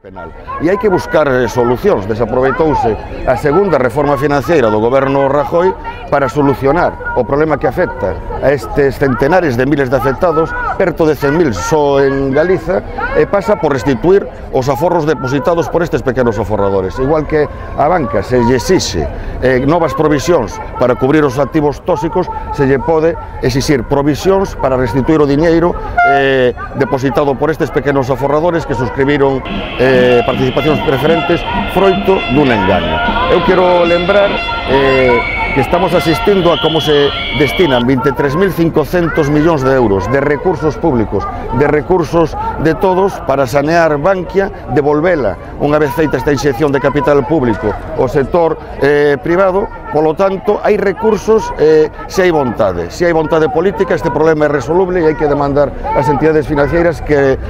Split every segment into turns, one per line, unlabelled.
penal. E hai que buscar solucións. Desaproveitouse a segunda reforma financiera do goberno Rajoy para solucionar o problema que afecta a estes centenares de miles de afectados, perto de 100.000 só en Galiza, e pasa por restituir os aforros depositados por estes pequenos aforradores. Igual que a banca se lle exixe novas provisións para cubrir os activos tóxicos, se lle pode exixir provisións para restituir o diñeiro depositado por estes pequenos aforradores que suscribiron participacións preferentes froito dun engaño. Eu quero lembrar que estamos asistindo a como se destinan 23.500 millóns de euros de recursos públicos, de recursos de todos para sanear Bankia, devolvela unha vez feita esta inxección de capital público ao sector privado. Polo tanto, hai recursos se hai vontade. Se hai vontade política, este problema é resoluble e hai que demandar ás entidades financeiras que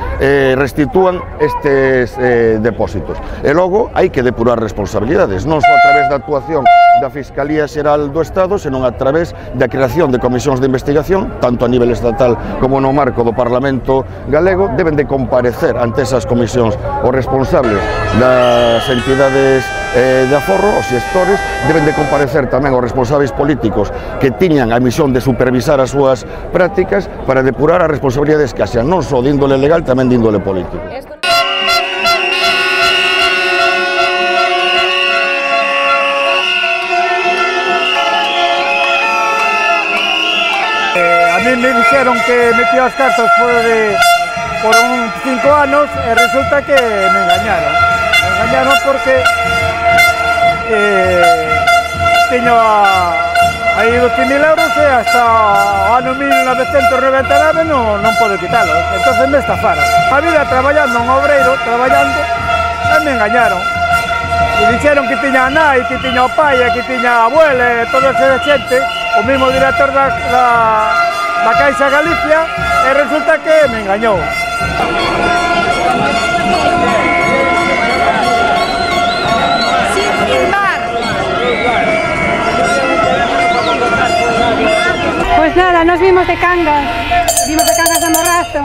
restitúan estes depósitos. E logo, hai que depurar responsabilidades, non só a través da actuación da Fiscalía Xeral do Estado, senón a través da creación de comisións de investigación, tanto a nivel estatal como no marco do Parlamento galego. Deben de comparecer ante esas comisións os responsables das entidades de aforro, os xestores, deben de comparecer tamén os responsables políticos que tiñan a misión de supervisar as súas prácticas para depurar as responsabilidades que haxan non só de índole legal, tamén de índole político.
A mí me dixeron que metía as cartas por 5 anos e resulta que me engañaron. Me engañaron porque tiño aí 12.000 euros e hasta o ano 1999 non podo quitalos. Entonces me estafaron. A vida traballando un obreiro, traballando, e me engañaron. E dixeron que tiña a nai, que tiña o pai, que tiña a abuela e toda esa xente, o mismo director da Caixa Galicia, e resulta que me engañou.
Pois nada, nos vimos de Cangas de Morrazo,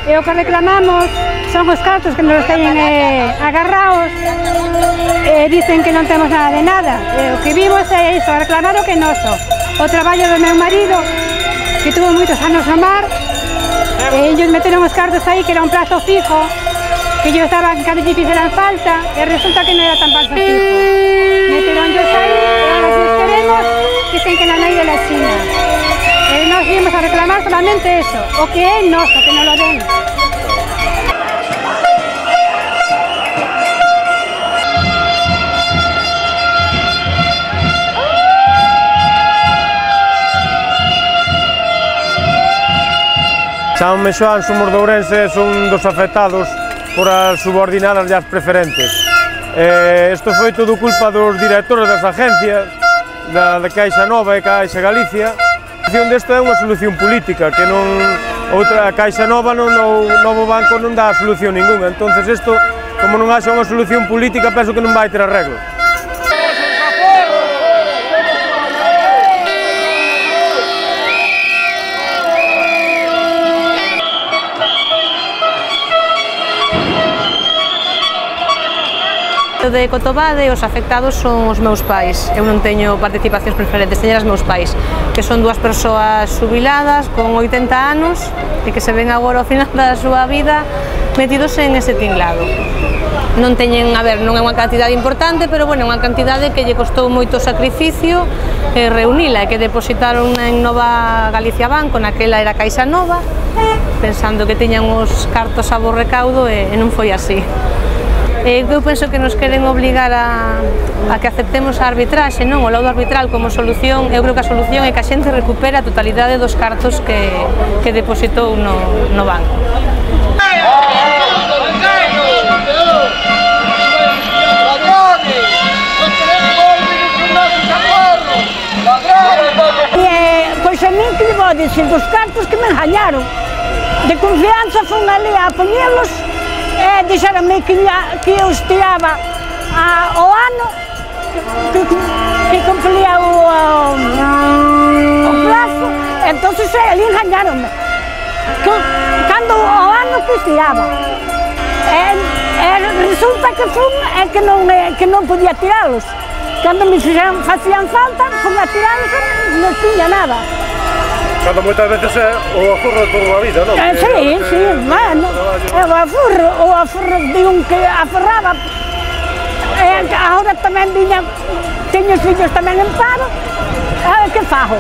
e o que reclamamos son os cartos que nos teñen agarrados e dicen que non temos nada de nada. O que vimos é iso, reclamar o que é noso. O traballo do meu marido, que tuvo moitos anos no mar, e ellos meteron os cartos aí que era un plazo fijo, que ellos daban cada vez que fixeran falta, e resulta que non era tan plazo fijo. Meteron ellos aí, e ahora si os queremos, dicen que non hai de la China. E nos vimos a reclamar solamente eso, o que é noso, que non lo den.
Chámame Xoán, somos de Ourense, son dos afectados por as subordinadas e as preferentes. Isto foi todo culpa dos directores das agencias, da Caixa Nova e Caixa Galicia. A solución desto é unha solución política, que non outra Caixa Nova, o novo banco non dá solución ninguna. Entonces isto, como non haxa unha solución política, penso que non vai ter arreglo.
De Cotobade, os afectados son os meus pais. Eu non teño participacións preferentes, teñen os meus pais, que son dúas persoas xubiladas con 80 anos e que se ven agora ao final da súa vida metidos en ese tinglado. Non teñen, a ver, non é unha cantidade importante, pero bueno, é unha cantidade que lle costou moito sacrificio reunila, e que depositaron en Nova Galicia Banco, naquela era Caixa Nova, pensando que teñan os cartos a bo recaudo, e non foi así. Eu penso que nos queren obligar a que aceptemos a arbitraxe, non? O laudo arbitral como solución. Eu creo que a solución é que a xente recupere a totalidade dos cartos que depositou no banco.
Pois a min que lle vou dicir dos cartos que me engañaron. De confianza fun ali a poñelos. Dixeronme que eu estiraba ao ano, que cumpría o plazo, entón ali engañaronme. Cando ao ano que estiraba. resulta que fun e que non podía tiralos. Cando me facían falta, fun a tiralos e non tiña nada.
Cando moitas veces é o aforro de toda a vida, non?
Sí, bueno, o aforro de un que aforraba. Agora tamén viña, teño os fillos tamén en paro, a ver que fago.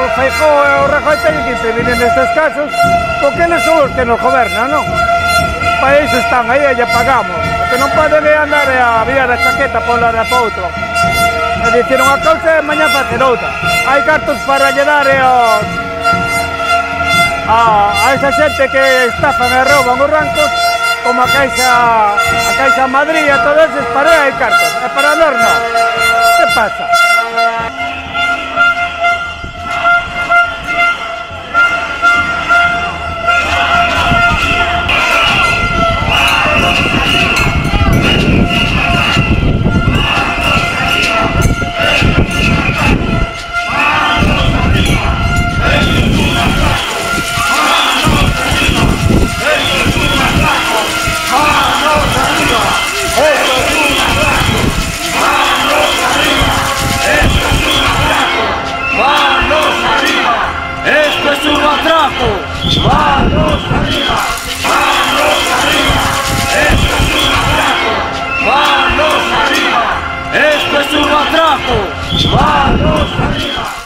Feijóo e o Rajoy teñen que intervenir nestes casos porque eles son os que nos gobernan, non? Para iso están aí e lle pagamos. O que non poden é andar a vía da chaqueta por la de pa outro. E dicir unha cousa e mañá facer outra. Hai cartos para lle dar a esa xente que estafan e rouban os rancos como a Caixa Madrid e todos eses para hai cartos. E para nós non. Que pasa?
¡Manos arriba! ¡Manos arriba! ¡Esto es un atraco! ¡Manos arriba! ¡Esto es un atraco! ¡Manos arriba!